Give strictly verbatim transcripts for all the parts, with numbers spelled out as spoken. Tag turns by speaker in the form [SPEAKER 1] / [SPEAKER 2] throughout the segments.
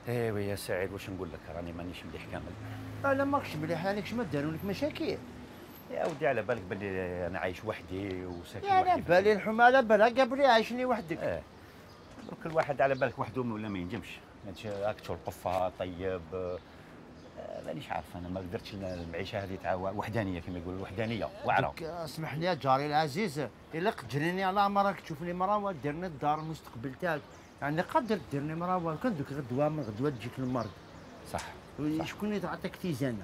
[SPEAKER 1] ايوا يا سعيد واش نقول لك راني مانيش مليح كامل.
[SPEAKER 2] انا ماكش مليح عليك، شما داروا لك مشاكل؟
[SPEAKER 1] يا ودي على بالك باللي انا عايش وحدي وساكن
[SPEAKER 2] يا
[SPEAKER 1] وحدي.
[SPEAKER 2] على بالي الحمى على بالها قبلي عايشني وحدك.
[SPEAKER 1] اه درك الواحد على بالك وحده ولا ما ينجمش، هاك تشوف القفه طيب. آه مانيش عارف انا ما قدرتش المعيشه هذه تاع وحدانيه كما يقولوا الوحدانيه واعره.
[SPEAKER 2] اسمح لي يا جاري العزيز، الا قدرني على مرك تشوفني مرا ديرنا الدار المستقبل تاعك، يعني قدر ديرني مرا كان دوك غدوه من غدوه تجيك المرض.
[SPEAKER 1] صح, صح.
[SPEAKER 2] شكون اللي تعطيك تيزانه؟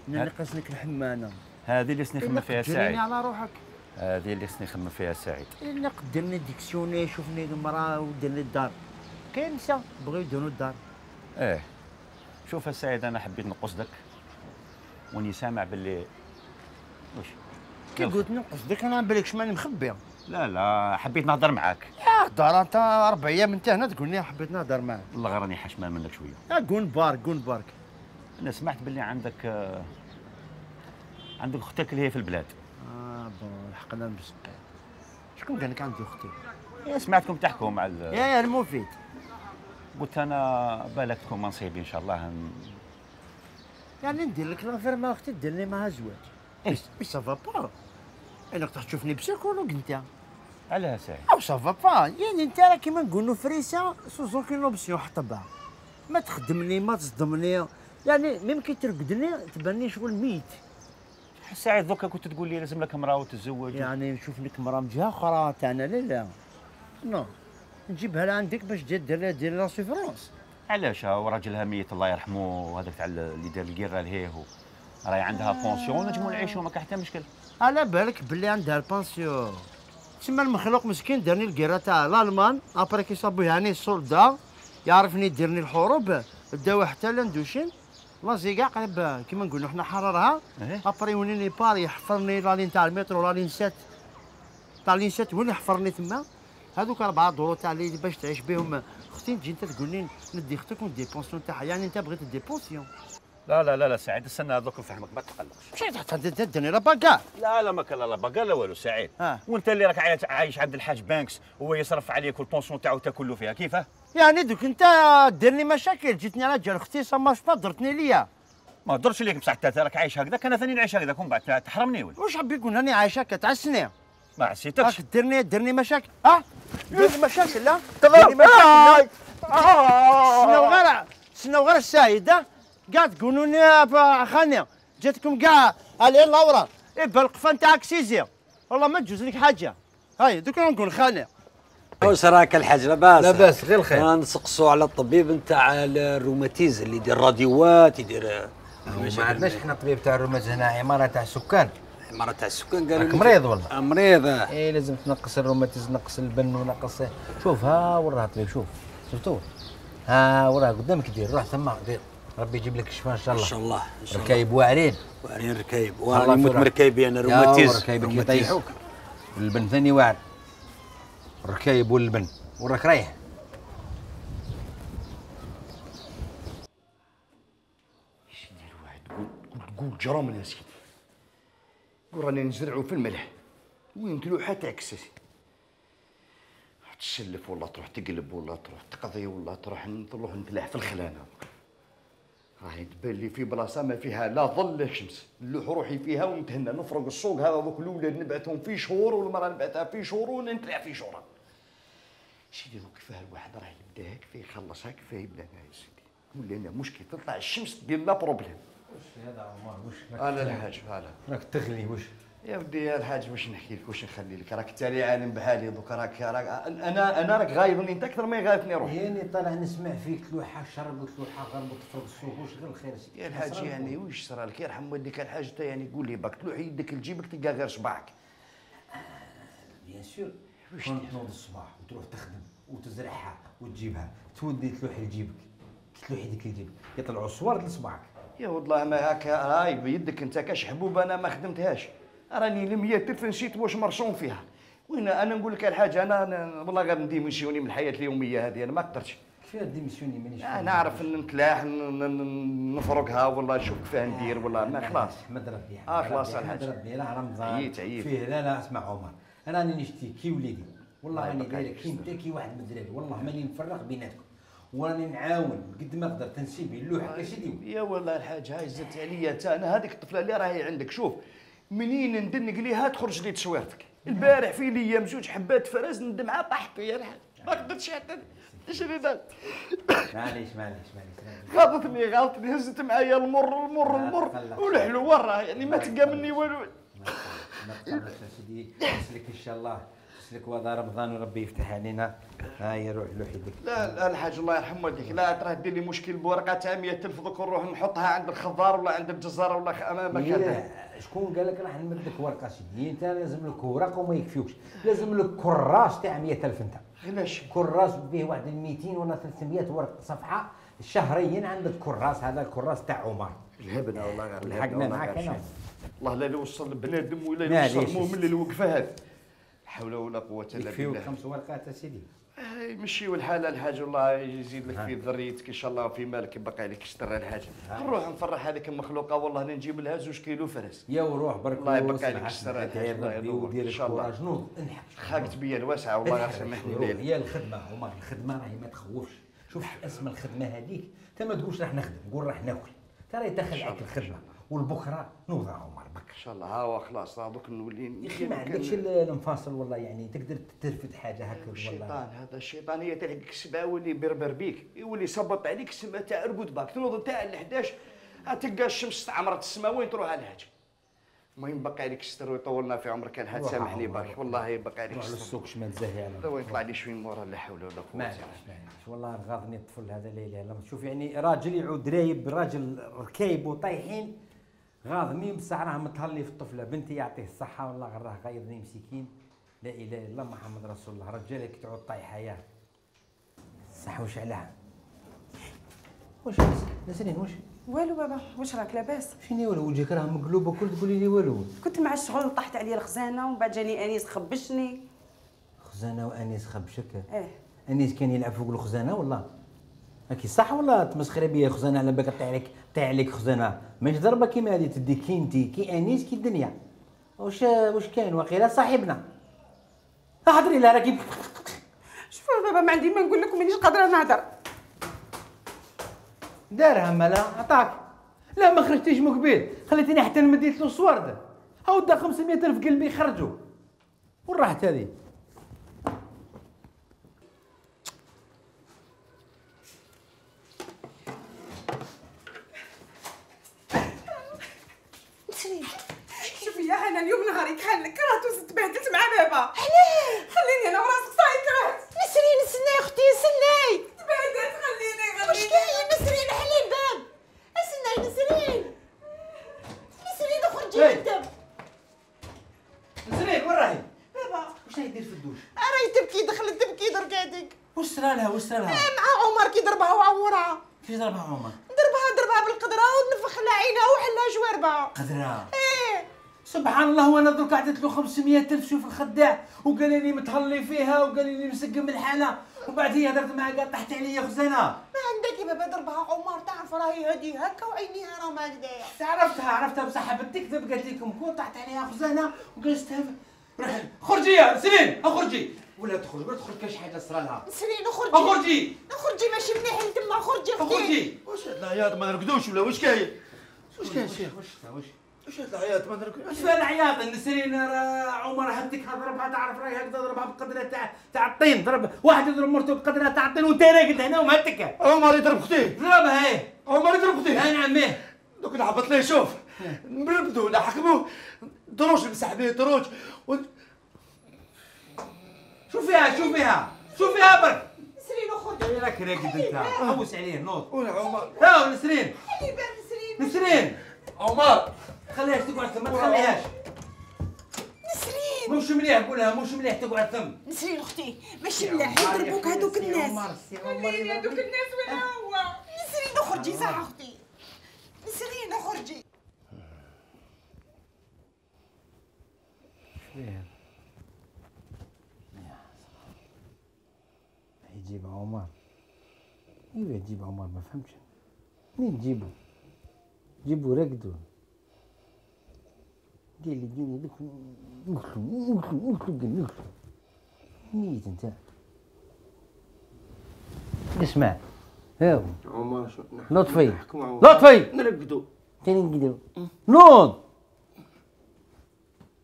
[SPEAKER 2] انا نقص لك الحمانه.
[SPEAKER 1] هذه اللي خصني نخمم فيها سعيد.
[SPEAKER 2] قدرني على روحك.
[SPEAKER 1] هذه اللي خصني نخمم فيها سعيد.
[SPEAKER 2] الا قدرني ديكسيوني شوفني المرا وديرني الدار. كاين نساء بغيو يديروا الدار.
[SPEAKER 1] ايه شوف السعيد انا حبيت نقصدك وني سامع باللي واش
[SPEAKER 2] كي قلت نقصدك انا بالك شماني مخبي.
[SPEAKER 1] لا لا حبيت نهضر معاك.
[SPEAKER 2] يا هضر انت اربع ايام انت هنا تقول لي حبيت نهضر معاك.
[SPEAKER 1] والله غير راني حشمان منك شويه.
[SPEAKER 2] يا قول بارك قول بارك.
[SPEAKER 1] انا سمعت باللي عندك آه عندك اختك اللي هي في البلاد.
[SPEAKER 2] اه بون الحق انا مسكين. شكون قال لك عندي اختي؟
[SPEAKER 1] يا سمعتكم تحكوا مع ال...
[SPEAKER 2] يا يا المفيد.
[SPEAKER 1] قلت انا بالك تكون منصيبي ان شاء الله هن...
[SPEAKER 2] يعني ندير لك لافير مع اختي دير لي معها زواج.
[SPEAKER 1] إيه؟
[SPEAKER 2] مي سافا با. انا تروح تشوفني بسيكولوج انت.
[SPEAKER 1] علاه ساعد؟
[SPEAKER 2] او سافا با، يعني انت راه كيما نقولوا فريسه سوز اوكين اوبسيون حطبها. ما تخدمني ما تصدمني، يعني ميم كي ترقدني تباني شغل ميت.
[SPEAKER 1] ساعد دوكا كنت تقول لي لازم لك امراه وتتزوج.
[SPEAKER 2] يعني نشوف لك مرا من جهه اخرى تاعنا لا لا. نو نجيبها لعندك باش دير لها دير لها سيفرونس.
[SPEAKER 1] علاش وراجلها ميت الله يرحمه وهذاك تاع اللي دار الكيرا لهيه راهي عندها بونسيون نجمو نعيشو ما كاين حتى مشكل.
[SPEAKER 2] على بالك باللي عندها البانسيون. تسمى المخلوق مسكين دارني الكيرا تاع الالمان ابري كي صابو يعني السولدا يعرفني يديرني الحروب داو حتى لاندوشين لازي كاع قريب كيما نقولوا حنا حررها. ابري ونيني باري يحفرني لالين تاع المترو لالين سات تاع لين سات وين يحفرني تما. هذوك اربعه دورو تاع اللي باش تعيش بهم. اختي تجي انت تقول لي ندي اختك وندي بونسيون تاعها، يعني انت بغيت دي بونسيون.
[SPEAKER 1] لا لا لا لا سعيد استنى هذوك نفهمك ما تقلقش.
[SPEAKER 2] مشيت تدني لا باكا.
[SPEAKER 1] لا لا ما كان لا باكا لا والو سعيد.
[SPEAKER 2] آه.
[SPEAKER 1] وانت اللي راك عايش عند الحاج بانكس وهو يصرف عليك والبونسيون تاعو تاكل له فيها كيفاه؟
[SPEAKER 2] يعني دوك انت ديرني مشاكل جيتني على جال اختي سماش با درتني ليا.
[SPEAKER 1] ما درتش ليك بصح انت راك عايش هكذاك انا ثاني نعيش هكذاك ومن بعد تحرمني ولا
[SPEAKER 2] واش حاب يقول راني عايشه كتعسني؟
[SPEAKER 1] ما عسيتكش.
[SPEAKER 2] ديرني ديرني مشاكل. اه ديرني مشاكل لا ديرني مشاكل. سناو غير سناو غير السعيده كاع تقولوا لي خاني جاتكم كاع على اللورا إبا القفه نتاعك سيزي والله ما تجوز لك حاجه. هاي دوك نقول خاني.
[SPEAKER 3] واش راك الحاج لاباس؟
[SPEAKER 4] لاباس غير الخير.
[SPEAKER 3] نسقسوا على الطبيب نتاع الروماتيز اللي يدير راديوات يدير.
[SPEAKER 4] ما عندناش حنا طبيب تاع الروماتيز هنا، عماره تاع سكان.
[SPEAKER 3] عماره تاع السكان قالوا
[SPEAKER 4] راك مريض والله.
[SPEAKER 3] مريض.
[SPEAKER 4] اي لازم تنقص الروماتيز نقص البن ونقص. شوف ها وراه الطبيب شوف شفتوه ها وراه قدامك دير روح ثما دير ربي يجيب لك الشفاء ان شاء الله.
[SPEAKER 3] ان شاء الله ان شاء الله.
[SPEAKER 4] ركايب واعرين
[SPEAKER 3] واعرين ركايب وراني موت مركايبي انا روماتيز.
[SPEAKER 4] ركايبك يطيحوك والبن ثاني واعر الركايب والبن وراك رايح.
[SPEAKER 2] اش يدير واحد تقول تقول جرام يا سيدي. قول راني نزرعو في الملح وين تلوحه تعكس يا سيدي. تسلف ولا تروح تقلب ولا تروح تقضي ولا تروح نروح نتلاح في الخلانه. راهي تبان لي في بلاصه ما فيها لا ظل لا شمس، نلوح روحي فيها ونتهنى نفرق السوق هذا دوك الاولاد نبعثهم في شهور والمراه نبعثها في شهور ونتلاع في شهور. سيدي دوك كيفاه الواحد راه يبدا كيفاه يخلصها كيفاه يبدا يا سيدي. ولا انا مشكل تطلع الشمس دير لا بروبليم.
[SPEAKER 4] واش هذا عمر واش
[SPEAKER 2] انا الحاج هلا
[SPEAKER 4] راك تغلي واش
[SPEAKER 2] يا ودي يا الحاج واش نحكي لك واش نخلي لك راك انت لي عالم بحالي دوك راك راك انا انا راك غايبني انت اكثر ما يغايبني روحي.
[SPEAKER 4] يعني طالع نسمع فيك تلوحه شرب وتلوحه غرب وتفرق السوق واش غير الخير سيدي.
[SPEAKER 2] يا الحاج يعني واش صرا لك يرحم والديك الحاج انت يعني قول لي باك تلوح يدك لجيبك تلقى غير صباعك.
[SPEAKER 4] بيان سور واش تنوض الصباح وتروح تخدم وتزرعها وتجيبها تودي تلوح لجيبك تلوح يدك لجيبك يطلعوا صور لصباعك.
[SPEAKER 2] يا والله ما هكا راي بيدك انت كاش حبوب انا ما خدمتهاش. راني لمية تلف نسيت واش مرسوم فيها. وين انا نقول لك الحاجه انا, أنا والله غير نديميسيوني من الحياه اليوميه هذه انا ما قدرتش.
[SPEAKER 4] كيفاه ديميسيوني مانيش
[SPEAKER 2] انا نعرف نتلاح نفرقها والله نشوف كيفاه ندير والله ما خلاص.
[SPEAKER 4] احمد ربي
[SPEAKER 2] اه خلاص
[SPEAKER 4] احمد ربي راه رمضان
[SPEAKER 2] عييت عييت
[SPEAKER 4] فيه. لا لا اسمع عمر انا راني نشتي كي وليدي والله راني داير كي انت كي واحد من الدراري والله ماني نفرق بيناتكم وراني نعاون قد ما قدرت نسيب اللوحه سيدي.
[SPEAKER 2] يا والله الحاج هاي زدت عليا تا انا هذيك الطفله اللي راهي عندك شوف منين ندنق ليها تخرج لي تصويرتك. البارح في ليام زوج حبات فرز ندمعها طاحت يا الحاج ما قدرتش حتى نشري ذا.
[SPEAKER 4] معليش معليش معليش
[SPEAKER 2] غلطتني غلطني هزت معايا المر المر المر والحلو وراه يعني ما تلقى مني والو.
[SPEAKER 4] ما تقلقش سيدي نسلك ان شاء الله نسلك وهذا رمضان وربي يفتح علينا. هاي روح لوح يدك.
[SPEAKER 2] لا لا الحاج الله يرحم والديك لا تراه دير لي مشكل بورقه تاع مية ألف دوك نروح نحطها عند الخضار ولا عند الجزار ولا امامك هذا.
[SPEAKER 4] شكون قال لك راح نمد لك ورقه سيدي؟ انت لازم لك ورق وما يكفيوكش، لازم لك كراس تاع مية ألف انت.
[SPEAKER 2] علاش؟
[SPEAKER 4] كراس فيه واحد مئتين ولا ثلاثمية ورق صفحه شهريا عندك كراس. هذا الكراس تاع عمر.
[SPEAKER 2] الهبنا والله غير
[SPEAKER 4] لحقنا معاك انا.
[SPEAKER 2] والله لا يوصل بنادم ولا يوصل المؤمن للوقفه هذه. لا حول ولا قوه الا بالله.
[SPEAKER 4] يكفيوك خمس ورقات سيدي.
[SPEAKER 2] يمشيو الحال الحاج الله يزيد لك في ذريتك ان شاء الله وفي مالك يبقى عليك ستر الحاج. نروح نفرح هذيك المخلوقه والله نجيب لها زوج كيلو فرس.
[SPEAKER 4] يا وروح برك
[SPEAKER 2] الله يبقى عليك ستر الحاج
[SPEAKER 4] ودير
[SPEAKER 2] ان شاء الله.
[SPEAKER 4] جنود انحك
[SPEAKER 2] خاقت بيا الواسعه والله غير سامحني ليل.
[SPEAKER 4] هي الخدمه عمر الخدمه راهي ما تخوفش. شوف اسم الخدمه هذيك انت ما تقولش راح نخدم قول راح ناكل ترى يدخل عليك الخدمه والبكره نوضع عمر بك
[SPEAKER 2] ان شاء الله. ها هو خلاص دوك نولي
[SPEAKER 4] يا اخي ما عندكش المنفصل والله يعني تقدر ترفد حاجه هكا والله.
[SPEAKER 2] الشيطان هذا الشيطان هي تلحقك السبعه يولي بربر بيك يولي يصبط عليك السماء تاع رقود باك تنوض تاع ال حداش تلقى الشمس استعمرت السماء وين تروح على الهاج. المهم بقى عليك الستر ويطولنا في عمرك الحاج سامحني باك والله يبقى عليك الستر.
[SPEAKER 4] على السوق شمال زاهي على
[SPEAKER 2] وين يطلع لي شويه مورا لا حول ولا قوه.
[SPEAKER 4] معليش معليش والله غاضني الطفل هذا لا اله الا الله. شوف يعني راجل يعود رايب راجل ركايب وطايحين غاضني بصح راه متهلي في الطفله. بنتي يعطيه الصحه والله غير راه غايضني مسكين. لا اله الا الله محمد رسول الله. رجالك تعود طايحه ياه صح واش علاه. واش نسرين واش
[SPEAKER 5] والو بابا واش راك لاباس؟
[SPEAKER 4] شنو والو وجهك راه مقلوب وكل تقولي لي والو.
[SPEAKER 5] كنت مع الشغل طاحت عليا الخزانه ومن بعد جاني انيس خبشني.
[SPEAKER 4] خزانه وانيس خبشك؟
[SPEAKER 5] اه
[SPEAKER 4] انيس كان يلعب فوق الخزانه والله هاكي صح ولا تمسخري بيا خزانه على بالك طيح عليك طيح عليك خزانه ماهيش ضربه كيما هذه تدي كي انتي كي انيس كي الدنيا. واش واش كاين واقيلا صاحبنا احضري لها راكي.
[SPEAKER 5] شوف بابا ما عندي ما نقول لك مانيش قادره نهضر.
[SPEAKER 4] دارها مالا عطاك. لا ما خرجتيش مقبل خليتيني حتى نمديت له صورده. هاو دا خمسمية ألف قلبي خرجوا وين راحت هذه؟
[SPEAKER 5] شوفي يا انا اليوم نهاري كان كرهت وتبهدلت مع بابا. علاه؟ خليني انا وراسك صاي كرهت.
[SPEAKER 6] نسرين استناي اختي استناي.
[SPEAKER 5] تبهدلت خليني خليني.
[SPEAKER 6] واش كاين نسرين حلي الباب. استناي نسرين. نسرين اخرجي من الدم.
[SPEAKER 4] نسرين وين راهي؟
[SPEAKER 6] بابا
[SPEAKER 4] واش راهي دير في الدوش؟
[SPEAKER 6] راهي تبكي دخلت تبكي درك هذيك.
[SPEAKER 4] واش صرا لها واش صرا لها؟
[SPEAKER 6] مع عمر كي ضربها وعورها.
[SPEAKER 4] كيفاش ضربها عمر؟
[SPEAKER 6] ضربها ضربها بالقدره ونفخ لها عينها وحلها جواربها.
[SPEAKER 4] قدرها.
[SPEAKER 6] ايه
[SPEAKER 4] سبحان الله وانا درك عطيت له خمسمية ألف شوف الخداع وقال لي متهلي فيها وقال لي مسقم الحاله وبعد هي هدرت معاه قال طحت عليا خزانه.
[SPEAKER 6] ما عندك يا بابا ضربها عمر تعرف راهي هادي هكا وعينيها راهم هكذايا.
[SPEAKER 4] عرفتها عرفتها بصح حبت تكذب قالت لكم كون طحت عليها خزانه وجلستها روح خرجي يا سنين اخرجي ولا تخرج ولا تخرج كاش حاجه صرا لها.
[SPEAKER 6] نسرين اخرجي
[SPEAKER 4] اخرجي
[SPEAKER 6] اخرجي ماشي مليح لتما خرجي اختي.
[SPEAKER 4] اخرجي.
[SPEAKER 2] واش هاد العياط ما نرقدوش ولا واش كاين؟ واش كاين شيخ؟
[SPEAKER 4] واش واش
[SPEAKER 2] واش هاد العياط ما نرقدوش؟
[SPEAKER 4] واش فيها العياط النسرين راه عمر هديك ضربها تعرف راهي هكذا ضربها بقدره تاع تاع الطين. ضرب واحد يضرب مرته بقدره تاع الطين وانت راقد هنا ومهتك.
[SPEAKER 2] عمر يضرب اختي.
[SPEAKER 4] ضربها ايه
[SPEAKER 2] عمر يضرب اختي.
[SPEAKER 4] اي نعم ايه.
[SPEAKER 2] دوك نهبط ليه شوف نبردو نحكموه دروج نمسح به دروج و...
[SPEAKER 4] شوف فيها شوف فيها شوف فيها برك.
[SPEAKER 6] نسرين اخرجي.
[SPEAKER 4] اي راك راقد انت حوس عليه نوض.
[SPEAKER 2] وين عمر؟
[SPEAKER 4] هاو نسرين
[SPEAKER 6] حلي باب نسرين.
[SPEAKER 4] نسرين
[SPEAKER 2] عمر
[SPEAKER 4] خليهاش تقعد ثم ما تخليهاش.
[SPEAKER 6] نسرين
[SPEAKER 4] مش مليح قولها مش مليح تقعد ثم.
[SPEAKER 6] نسرين اختي ماشي مليح يضربوك هذوك الناس.
[SPEAKER 5] خليني هذوك الناس وين هو؟
[SPEAKER 6] نسرين اخرجي صح اختي. نسرين اخرجي.
[SPEAKER 4] فيها يجيب عمر. ايوا يجيب عمر ما فهمتش منين تجيبو جيبو رقدو قال لي قال لي نقتلو نقتلو نقتلو قال نقتلو ميت انت. اسمع هاو
[SPEAKER 2] عمر شو
[SPEAKER 4] لطفي
[SPEAKER 2] نحكموا عمر.
[SPEAKER 4] لطفي
[SPEAKER 2] نرقدوا
[SPEAKER 4] تاني نقدروا نوض.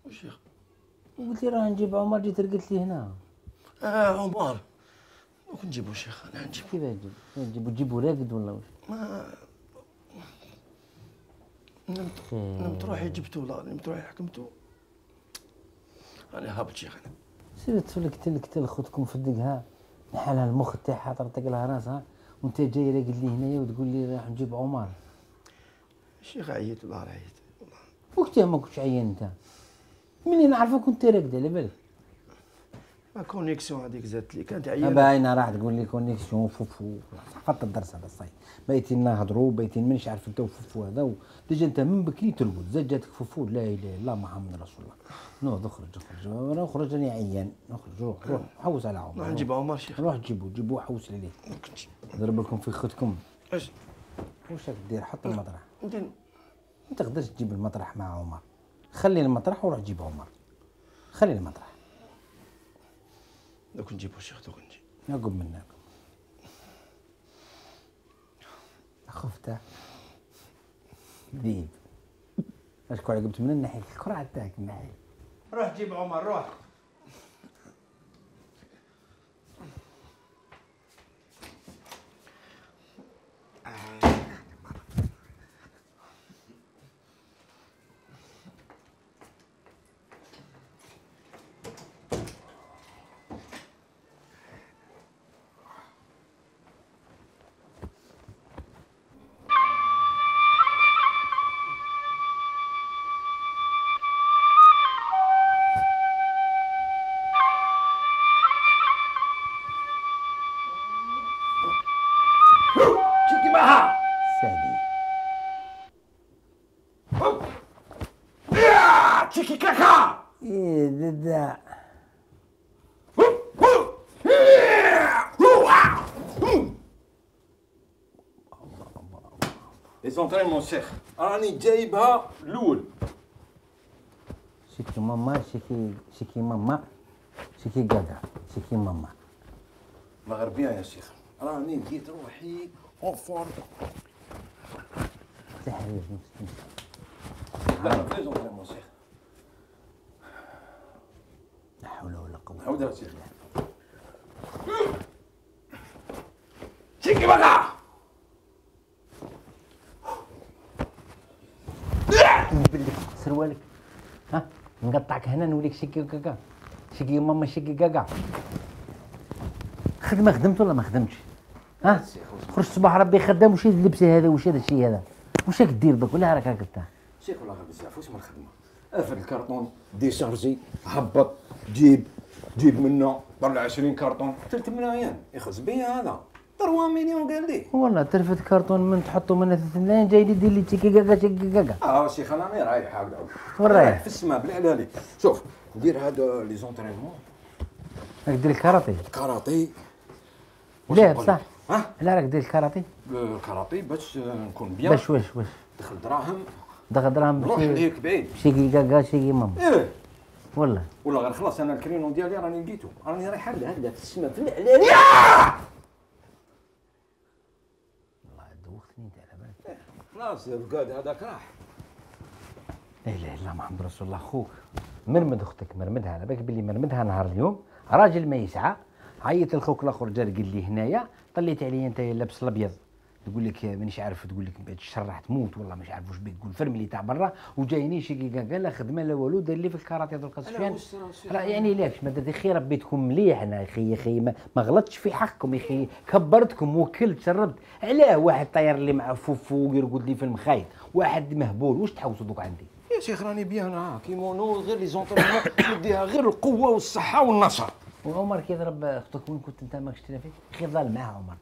[SPEAKER 2] واش يا اخي؟
[SPEAKER 4] قلت لي راه نجيب عمر، جيت رقدت لي هنا.
[SPEAKER 2] اه عمر دوك نجيبو شيخ انا نجيب.
[SPEAKER 4] كيفاه نجيب؟ نجيبو تجيبو راقد ولا واش؟
[SPEAKER 2] ما نمت نمت روحي جبتو والله نمت روحي حكمتو. انا هابط شيخ انا.
[SPEAKER 4] سير تفلك تلك تل خوتكم في الدقها نحالها المخ تاعها طرطق لها راسها وانت جاي راقد لي هنايا وتقول لي راح نجيب عمر.
[SPEAKER 2] الشيخ عييت والله عييت والله.
[SPEAKER 4] وقتها ما كنتش عيان انت، منين نعرفك كنت راقد على بالك.
[SPEAKER 2] ما كونيكسيون هذيك زادت لي كانت عيانه.
[SPEAKER 4] باينه راح تقول لي كونيكسيون فوفو، حفظت الدرس هذا الصاي. بايتين نهضروا بايتين مانيش عارف انت وفوفو هذا ديجا انت من بكري ترقد، زاد جاتك فوفو. لا اله الا الله محمد رسول الله. نوض اخرج اخرج انا اخرج راني عيان. اخرج روح روح حوس على عمر.
[SPEAKER 2] روح نجيب عمر شيخ.
[SPEAKER 4] روح جيبو جيبو حوس عليه. ضرب لكم في خوتكم.
[SPEAKER 2] اش
[SPEAKER 4] واش راك دير؟ حط المطرح.
[SPEAKER 2] ندير
[SPEAKER 4] ما تقدرش تجيب المطرح مع عمر. خلي المطرح وروح جيب عمر. خلي المطرح.
[SPEAKER 2] دوك نجيبو شيخ دوك نجيب.
[SPEAKER 4] عقب منك خفته ذيب. اشكون عقبت من الناحيه الكرة تاعك الناحيه. روح جيب عمر روح. سادي
[SPEAKER 2] تشيكي كاكا.
[SPEAKER 4] ايه ددا
[SPEAKER 3] لي زونترينمون شيخ راني جايبها الاول.
[SPEAKER 4] شكي ماما شكي شكي ماما شكي قاقا شكي ماما.
[SPEAKER 3] مغربيه يا شيخ راني لقيت روحي اون فورم.
[SPEAKER 4] تحرير
[SPEAKER 3] لا لي زونترينمون شيخ.
[SPEAKER 4] لا حول ولا قوة.
[SPEAKER 3] عاود يا شيخ.
[SPEAKER 2] تشيكي بقى.
[SPEAKER 4] نبلك سروالك ها نقطعك هنا نوليك شكي كاكا شكي ماما شكي كاكا. خدمة خدمت ولا ما خدمتش؟ ها خرج صباح ربي خدام. وش هذا اللبس هذا؟ وش هذا الشيء هذا؟ وش راك دير بك ولا راك هكا؟
[SPEAKER 3] شيخ والله غير بزاف واش من الخدمه. افر الكرتون ديشارجي هبط جيب جيب منه طلع عشرين كرتون ثلاث ملايين يخز بيا هذا ثلاثة مليون قال لي.
[SPEAKER 4] والله ترفد كرتون من تحطه من ثلاث ملايين جاي لي دير لي تشيكي كاكا شكي كاكا.
[SPEAKER 3] اه شيخ انا راني رايح هكذا.
[SPEAKER 4] وين رايح؟
[SPEAKER 3] في السماء بالعلالي. شوف ندير هذا لي زونترينمون
[SPEAKER 4] راك دير الكاراتي.
[SPEAKER 3] كاراتي.
[SPEAKER 4] لا بصح
[SPEAKER 3] ها
[SPEAKER 4] لا راك دير الكاراتي
[SPEAKER 3] الكاراتي باش نكون بيان.
[SPEAKER 4] باش واش واش
[SPEAKER 3] دخل دراهم
[SPEAKER 4] دخل دراهم
[SPEAKER 3] نروح لهيك بعيد.
[SPEAKER 4] شيكي كاكا شيكي ماما.
[SPEAKER 3] ايه
[SPEAKER 4] والله
[SPEAKER 3] ولا غير خلاص انا الكرينو ديالي راني لقيتو راني رايح هكذا هكذا في السماء في العلالي.
[SPEAKER 4] والله دوختني انت على بالك.
[SPEAKER 3] خلاص القاد هذاك راح.
[SPEAKER 4] لا اله الا الله محمد رسول الله. خوك مرمد اختك مرمدها على بالك بلي مرمدها نهار اليوم راجل ما يسعى. عيط لخوك الاخر جا قال لي هنايا طليت عليا انت لابس الابيض تقول لك مانيش عارف تقول لك بعد الشر تموت والله مش عارف واش بيك تقول فرملي تاع برا وجايني شي كاع لا خدمه لا والو دار لي في الكاراتيه درك سفيان. يعني ليش ما درت خير ربيتكم مليح. انا اخي يا اخي ما, ما غلطتش في حقكم يا اخي كبرتكم وكلت شربت. علاه واحد طاير لي مع فوفو يرقد لي في المخايط واحد مهبول واش تحوسوا دوك عندي
[SPEAKER 3] يا شيخ راني بيان ها كيمونو غير لي زونطرينمون نديها غير القوه والصحه والنشاط.
[SPEAKER 4] وعمر كي ضرب اختك وين كنت انت ماكش تلافي خير ظل معاها عمر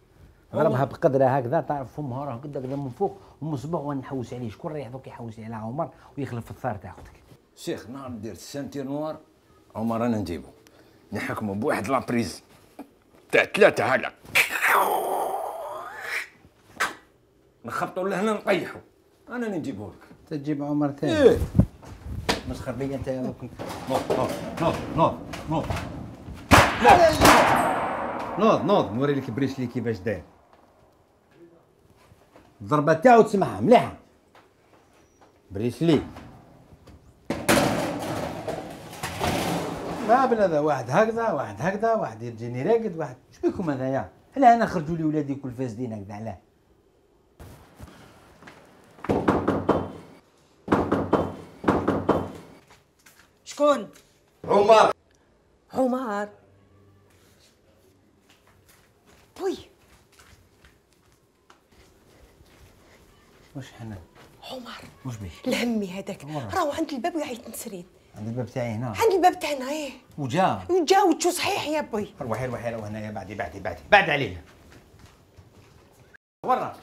[SPEAKER 4] ضربها بقدرها هكذا تعرف فمها راه كدا كدا من فوق ومن صباح ونحوس عليه. شكون رايح دوك يحوس على عمر ويخلف في الثار تاع اختك.
[SPEAKER 3] شيخ نهار ندير السانتير نوار عمر انا نجيبو نحكمو بواحد لابريز تاع ثلاثه هكا نخبطو لهنا نطيحو انا اللي نجيبو لك.
[SPEAKER 4] تجيب عمر ثاني.
[SPEAKER 3] ايه
[SPEAKER 4] مسخر بيا انت يا دوك.
[SPEAKER 3] نوض نوض نوض نوض
[SPEAKER 4] نوض نوض نوري لك بريسلي كيفاش داير. الضربه تاعو تسمعها مليحه. بريسلي ما بلا هذا واحد هكذا واحد هكذا واحد يجيني راقد واحد. اش بيكم هذايا؟ علاه انا خرجوا لي ولادي كل فاسدين هكذا علاه؟
[SPEAKER 6] شكون؟
[SPEAKER 3] عمر.
[SPEAKER 6] عمر. بوي.
[SPEAKER 4] واش حنا؟
[SPEAKER 6] عمر.
[SPEAKER 4] واش بيه؟
[SPEAKER 6] الهمي هذاك راهو عند الباب ويعيط نسرين.
[SPEAKER 4] عند الباب تاعي هنا؟
[SPEAKER 6] عند الباب تاعنا ايه.
[SPEAKER 4] وجا؟
[SPEAKER 6] وجا وجو صحيح يا بوي.
[SPEAKER 4] روحي روحي روح هنايا بعدي بعدي بعدي بعد علينا. ورا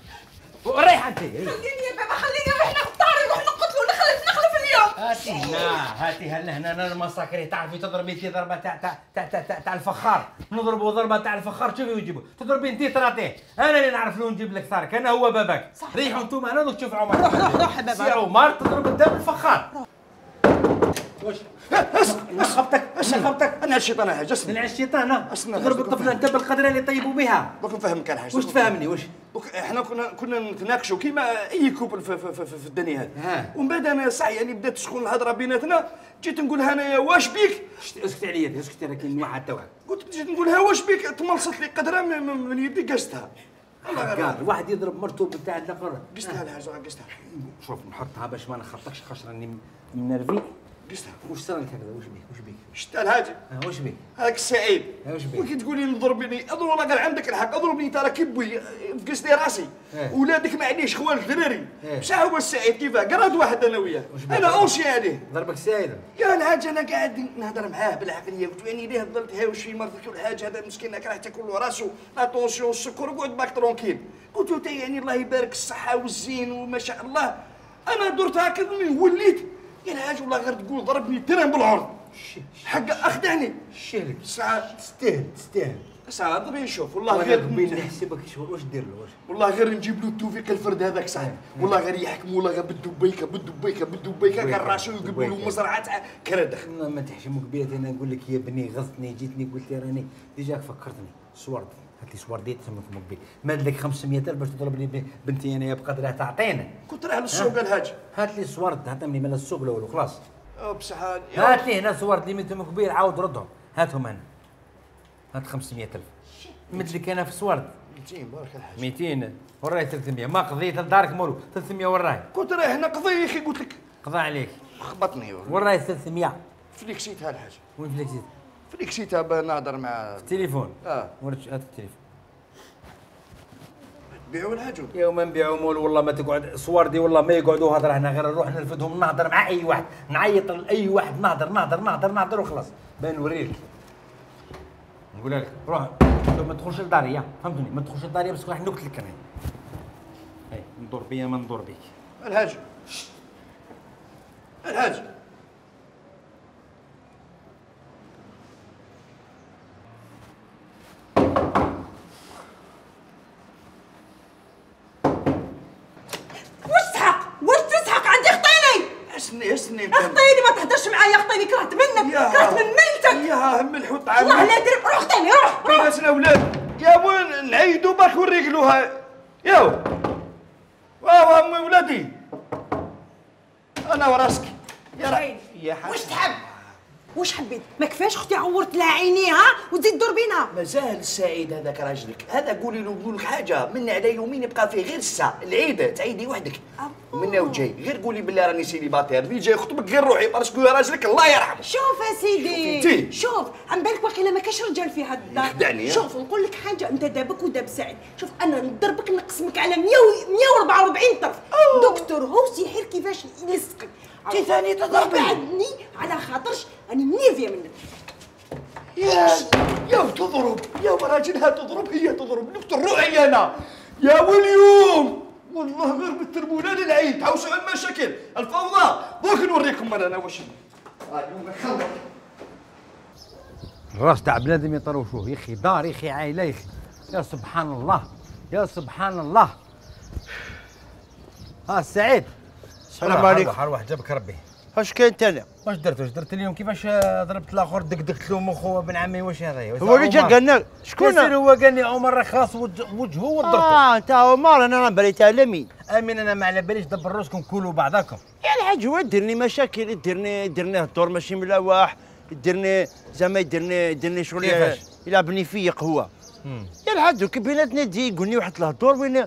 [SPEAKER 4] وريح انت.
[SPEAKER 5] خليني يا بابا خليني نروح نختار نروح نقتلو نخلف نخلف اليوم.
[SPEAKER 4] هاتي هنا هاتي هنا هنا انا المساكري تعرفي تضربي انت ضربه تاع تاع تاع تاع تاع الفخار. نضربوا ضربه تاع الفخار شوفي ويجيبوا. تضربي انت تراتيه انا اللي نعرف لو نجيب لك ثارك انا هو باباك. ريحوا انتم انا دوك تشوف عمر.
[SPEAKER 6] روح روح روح يا بابا.
[SPEAKER 4] سي عمر تضرب قدام الفخار. واش خبطك اش خبطك؟
[SPEAKER 3] انا الشيطان حاجه اسمع.
[SPEAKER 4] من الشيطان تضرب الطفله انت بالقدره اللي طيبوا بها.
[SPEAKER 3] دوك نفهمك انا حاجه.
[SPEAKER 4] واش تفهمني واش؟
[SPEAKER 3] دوك احنا كنا كنا نتناقشوا كيما اي كوبل في, في, في, في الدنيا هذه. ومن بعد انا صح يعني بدات تسخن الهضره بيناتنا جيت نقول لها انايا واش بيك؟
[SPEAKER 4] اسكتي عليا اسكتي راه كاين واحد تا واحد.
[SPEAKER 3] قلت جيت نقول لها واش بيك؟ تملصت لي قدره من يدي قستها.
[SPEAKER 4] حقار الواحد يضرب مرتو بتاع الاخر.
[SPEAKER 3] قستها الحاجه قستها.
[SPEAKER 4] شوف نحطها باش ما نخبطكش خاطر راني منرفي.
[SPEAKER 3] قستها.
[SPEAKER 4] واش صار لك هكذا واش بيك واش بيك؟
[SPEAKER 3] شتا الهاجي.
[SPEAKER 4] اه واش بيك؟
[SPEAKER 3] هاك السعيد.
[SPEAKER 4] واش بيك؟
[SPEAKER 3] وكي تقولي نضربني اضرب والله قال عندك الحق اضربني انت راه كيبوي فقست لي راسي. ولادك ما عنديش خوال الدراري. بصح هو السعيد كيفاه قراد واحد انا وياه. انا اونشي عليه.
[SPEAKER 4] ضربك السعيد.
[SPEAKER 3] يا الحاج انا قاعد نهضر معاه بالعقليه قلت يعني ليه ضلت هاوش في مرضك والحاج هذا مسكين راح تاكل له راسو اتونسيون السكر وقعد باك ترونكيل. قلت له يعني الله يبارك الصحه والزين وما شاء الله. انا درت هكذا وليت يا الحاج والله غير تقول ضربني ترين بالعرض. حق اخدعني.
[SPEAKER 4] شيلك
[SPEAKER 3] ساعه
[SPEAKER 4] تستاهل تستاهل.
[SPEAKER 3] ساعه ضربي نشوف والله غير
[SPEAKER 4] بين نحسبك شهور واش دير له واش؟
[SPEAKER 3] والله غير نجيب له التوفيق الفرد هذاك صاحبي والله غير يحكموا والله غير بالدبيكه بالدبيكه بالدبيكه كان راسو يقبلوا له مزرعه تاع كردخ.
[SPEAKER 4] ما تحشمك بيا انا نقول لك يا بني غزتني جيتني قلت لي راني ديجاك فكرتني صورت هات لي صورديت سمكم بي ماد لك خمسمية ألف باش تضرب لي بنتي انا بقدرها تعطينا.
[SPEAKER 3] كنت رايح للسوق الهاج.
[SPEAKER 4] هات لي صورد هاتهم من السوق الاول وخلاص.
[SPEAKER 3] بصح
[SPEAKER 4] هات لي هنا صورت لي منتم كبير عاود ردهم هاتهم هنا. هات خمسمية ألف. مد لك انا في صورد.
[SPEAKER 3] مئتين بارك الحاج.
[SPEAKER 4] مئتين وراي ثلاثمية ما قضيت لدارك مولو ثلاثمية وراي.
[SPEAKER 3] كنت رايح نقضي يا اخي قلت لك.
[SPEAKER 4] قضى عليك.
[SPEAKER 3] خبطني
[SPEAKER 4] وراي ثلاثمية.
[SPEAKER 3] فليكسيتها الحاج.
[SPEAKER 4] وين فليكسيت؟
[SPEAKER 3] فليكسيتها بنهضر مع
[SPEAKER 4] التليفون.
[SPEAKER 3] اه
[SPEAKER 4] وريت هات التليفون.
[SPEAKER 3] بيعوا الحاج.
[SPEAKER 4] يا ما نبيعوا مول والله ما تقعد صوردي والله ما يقعدوا هضره هنا غير نروح نرفدهم نهضر مع اي واحد نعيط لاي واحد نهضر نهضر نهضر نهضر وخلاص بان نوريك. نقول لك روح ما تدخلش لداري فهمتني ما تدخلش لداري بس راح نقتلك انا. هاي ندور بيا ما ندور بيك.
[SPEAKER 3] الحاج الحاج اسني اسني
[SPEAKER 6] اخطيني ما تهدرش معايا اخطيني كرهت منك كرهت من ميلتك
[SPEAKER 3] يا هم الحوت عامل
[SPEAKER 6] والله لا درب روح اخطيني روح روح
[SPEAKER 3] ناسنا اولاد يا وين نعيدوا باك ونريقلوها ياو واه امي ولادي انا وراسك يا رعين
[SPEAKER 6] يا حاج واش تحب واش حبيت ما كفاش اختي عورت لها عينيها وتزيد تدور بينا
[SPEAKER 3] مازال السعيد هذاك راجلك هذا قولي له نقول لك حاجه من على يومين يبقى فيه غير الساعه العيد تعيدي وحدك من وجهي غير قولي بالله راني سيليباتير اللي جاي يخطبك غير روحي باسكو راجلك الله يرحمه
[SPEAKER 6] شوف يا سيدي شوف عم بالك واقيلا ما كاش رجال في هاد الدار
[SPEAKER 3] يخدعني
[SPEAKER 6] شوف نقول لك حاجه انت دابك وداب سعيد شوف انا نضربك نقسمك على مية وأربعة وأربعين طرف دكتور هوس يحير كيفاش يلصقك
[SPEAKER 3] انت ثاني تضربني
[SPEAKER 6] بعدني على خاطرش راني منيفيه منك
[SPEAKER 3] يا يا تضرب يا راجلها تضرب هي تضرب دكتور روحي انا يا واليوم والله غير بالتربونه للعيد تعوسوا على المشاكل الفوضى دوك نوريكم انا واش
[SPEAKER 4] الراس تاع بنادم يطروشوه يا اخي دار يا اخي عائله يا اخي يا سبحان الله يا سبحان الله. ها سعيد
[SPEAKER 2] السلام عليكم.
[SPEAKER 4] ارواح جابك ربي
[SPEAKER 2] اش كاين انت انا؟
[SPEAKER 4] واش درت واش درت اليوم كيفاش ضربت الاخر دقدقت له مخو ابن عمي واش هذا
[SPEAKER 2] هو اللي جا قال لنا شكون؟
[SPEAKER 4] شكون هو قال لي عمر راه خاص وجهه وضربته.
[SPEAKER 2] اه انت عمر انا راه بالي تاع مين؟
[SPEAKER 4] امين انا ما على باليش دبر روسكم كلوا بعضاكم.
[SPEAKER 2] يا الحاج هو ديرني مشاكل يديرني يديرني الدور ماشي ملواح يديرني زعما يديرني يديرني شغل
[SPEAKER 4] كيفاش؟
[SPEAKER 2] يلعبني فيق هو. يا الحاج دوك بيناتنا تجي يقول لي واحد الهضور وين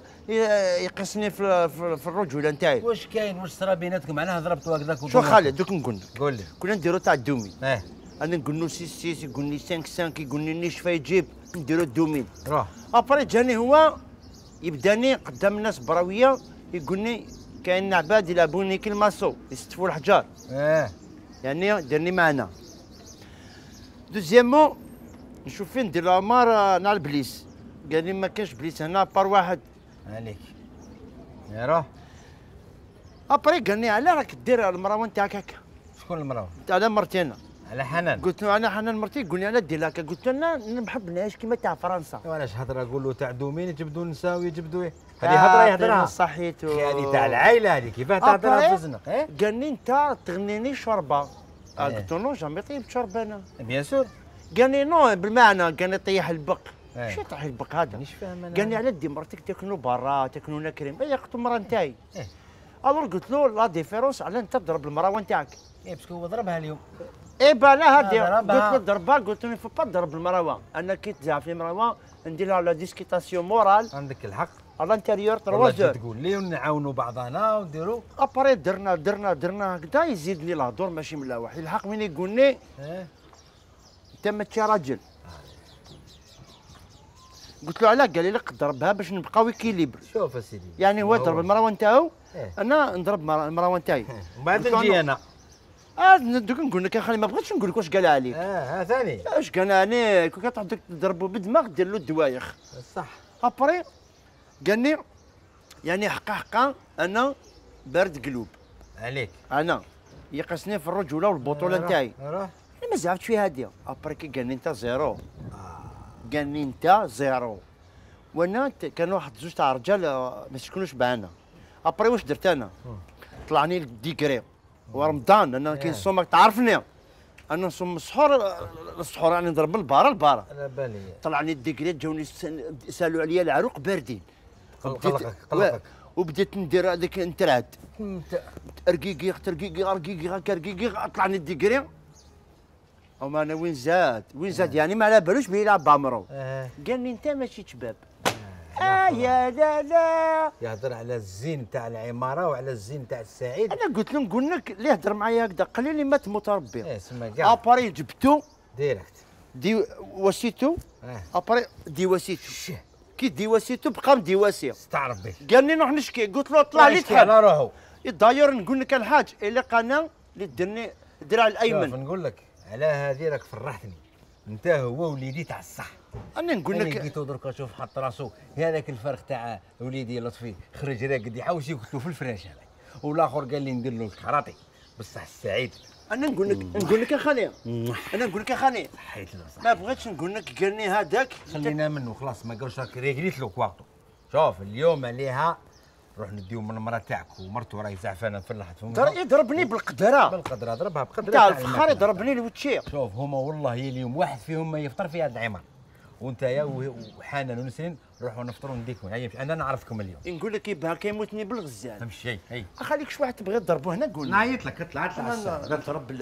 [SPEAKER 2] يقصني في في, في الرجوله نتاعي.
[SPEAKER 4] واش كاين واش صرا بيناتكم معناها ضربتوا هكذاك؟
[SPEAKER 2] شو خالد دوك نقول لك
[SPEAKER 4] قول لي.
[SPEAKER 2] كنا نديرو تاع الدومين.
[SPEAKER 4] اه
[SPEAKER 2] انا نقول له ستة ستة يقول لي خمسة خمسة يقول لي نيش فيجيب نديرو الدومين.
[SPEAKER 4] روح.
[SPEAKER 2] ابري جاني هو يبداني قدام الناس براويه يقول لي كاين عباد يلعبوني كالماسو يستفوا الحجار.
[SPEAKER 4] اه
[SPEAKER 2] يعني ديرني معنا. دوزيامون نشوف فين ندير العمار نهار البليس قال لي ما كاينش بليس هنا بار واحد.
[SPEAKER 4] عليك يا روح.
[SPEAKER 2] ابري قال لي علاه راك دير المروان تاعك هكا؟
[SPEAKER 4] شكون المراه؟
[SPEAKER 2] على مرتي انا.
[SPEAKER 4] على حنان.
[SPEAKER 2] قلت له انا حنان مرتي يقول لي علاه دير هكا قلت له انا ما نحبناش كيما تاع فرنسا.
[SPEAKER 4] وعلاش هضره قول له تاع دومين يجبدوا نساو يجبدوا ايه؟ هذه هضره يهضرها
[SPEAKER 2] صحيتو.
[SPEAKER 4] هذه تاع العائله هذه كيفاه تهضرها في الزنق؟ ايه
[SPEAKER 2] قال لي انت تغنيني شوربه. قلت له نو جامي طيبت شوربه انا.
[SPEAKER 4] بيان سور.
[SPEAKER 2] قال لي نو بالمعنى قال لي طيح البق.
[SPEAKER 4] ايه.
[SPEAKER 2] شو طيح البق هذا؟
[SPEAKER 4] مانيش فاهم انا.
[SPEAKER 2] قال لي على دي مرتك تاكلوا برا تاكلوا نكريم اي قلت له المراه نتاعي.
[SPEAKER 4] ايه.
[SPEAKER 2] الور قلت له لا ديفيرونس على انت تضرب المروه نتاعك.
[SPEAKER 4] ايه باسكو هو ضربها اليوم.
[SPEAKER 2] ايه بالا هادي
[SPEAKER 4] ضربها.
[SPEAKER 2] قلت له ضربها قلت له فو با تضرب المروه انا كي تزعف لي المروه ندير لها لا ديسكيتاسيون مورال
[SPEAKER 4] عندك الحق.
[SPEAKER 2] على الانتيريور
[SPEAKER 4] والله
[SPEAKER 2] تروا
[SPEAKER 4] تجي
[SPEAKER 2] زور.
[SPEAKER 4] تقول لي ونعاونوا بعضنا ونديروا.
[SPEAKER 2] ابري درنا درنا درنا هكذا يزيد لي الهضور ماشي ملاوح يلحق من يقول لي
[SPEAKER 4] ايه
[SPEAKER 2] انت ماشي راجل. قلت له علاش؟ قال لي لك ضربها باش نبقاو اكيليبر.
[SPEAKER 4] شوف اسيدي.
[SPEAKER 2] يعني هو ضرب المروه نتاعو
[SPEAKER 4] إيه.
[SPEAKER 2] انا نضرب مر- المروه نتاعي.
[SPEAKER 4] ومن بعد
[SPEAKER 2] قلت له
[SPEAKER 4] نجي انا.
[SPEAKER 2] اه دوك نقول لك يا خالي ما بغيتش نقول لك واش قال عليك.
[SPEAKER 4] اه ها ثاني.
[SPEAKER 2] اش قال عليك كون كتعرف تضربو بالدماغ دير له الدوايخ.
[SPEAKER 4] صح.
[SPEAKER 2] ابري قال لي يعني حقا حقا انا بارد قلوب.
[SPEAKER 4] عليك.
[SPEAKER 2] انا يقصني في الرجوله والبطوله نتاعي.
[SPEAKER 4] روح.
[SPEAKER 2] انا ما زعفتش في هاديه. ابري كي قال لي انت زيرو. قال لي انت زيرو. وانا ت- كانوا واحد زوج تاع رجال آه، ما يسكنوش معنا. ابري واش درت انا؟ طلعني الديكري ورمضان انا كي نصوم تعرفني انا نصوم السحور آه، السحور راني نضرب البارا البارا.
[SPEAKER 4] على بالي.
[SPEAKER 2] طلعني الديكري جاوني سن- سالوا عليا العروق باردين.
[SPEAKER 4] قلقك
[SPEAKER 2] وبديت-
[SPEAKER 4] قلقك.
[SPEAKER 2] وبديت ندير هذاك نترعد رقيقي رقيقي رقيقي هكا رقيقي طلعني الديكري. وما انا وين زاد وين زاد يعني ما على بالوش بيه يلعب بعمرو.
[SPEAKER 4] اه
[SPEAKER 2] قال لي انت ماشي شباب. اه يا لا لا.
[SPEAKER 4] يهضر على الزين تاع العماره وعلى الزين تاع السعيد.
[SPEAKER 2] انا قلت له نقول لك اللي يهضر معايا هكذا قال لي مات متربي.
[SPEAKER 4] ايه سما كاع.
[SPEAKER 2] اباري جبتو
[SPEAKER 4] ديريكت.
[SPEAKER 2] دي وسيتو.
[SPEAKER 4] اه
[SPEAKER 2] اباري دي وسيتو. كي دي وسيتو بقى مدي واسيه.
[SPEAKER 4] استعرف به.
[SPEAKER 2] قال لي نروح نشكي قلت له طلع لي
[SPEAKER 4] يشكي
[SPEAKER 2] تحل.
[SPEAKER 4] على روحه.
[SPEAKER 2] داير نقول لك الحاج اللي قناه اللي درني الدراع
[SPEAKER 4] شوف
[SPEAKER 2] الايمن.
[SPEAKER 4] نقول لك على هذه راك فرحتني. انت هو وليدي تاع الصح.
[SPEAKER 2] انا نقول
[SPEAKER 4] انا
[SPEAKER 2] لك
[SPEAKER 4] لقيتو دركا شوف حط راسو هذاك الفرخ تاع وليدي لطفي خرج راقد يحوس يقتلو في الفراش هذاك والاخر قال لي ندير له الكراطي بصح السعيد.
[SPEAKER 2] انا نقول لك نقول لك يا خالي انا نقول لك يا خالي
[SPEAKER 4] حيت له صح.
[SPEAKER 2] ما بغيتش نقول لك قال لي هذاك
[SPEAKER 4] خلينا منه خلاص ما قالش راك ريقليت له كواغطو. شوف اليوم عليها روح نديو من المراه تاعك ومرته راهي زعفانه فلحت فمها.
[SPEAKER 2] در- يضربني بالقدره
[SPEAKER 4] بالقدره ضربها بقدره
[SPEAKER 2] تاع
[SPEAKER 4] تاع
[SPEAKER 2] الفخار
[SPEAKER 4] الماكلة.
[SPEAKER 2] يضربني الوتشير.
[SPEAKER 4] شوف هما والله اليوم واحد فيهم ما يفطر في هذا العمر وانت يا وحنان ونسرين روحوا نفطروا نديكم. هيا انا نعرفكم اليوم.
[SPEAKER 2] نقول لك يبها كيموتني بالغزال.
[SPEAKER 4] تمشي هي
[SPEAKER 2] خليك شي واحد تبغي تضربه هنا قول لي.
[SPEAKER 4] نعيط لك اطلع اطلع
[SPEAKER 2] انا
[SPEAKER 4] الساعة.
[SPEAKER 2] نضرب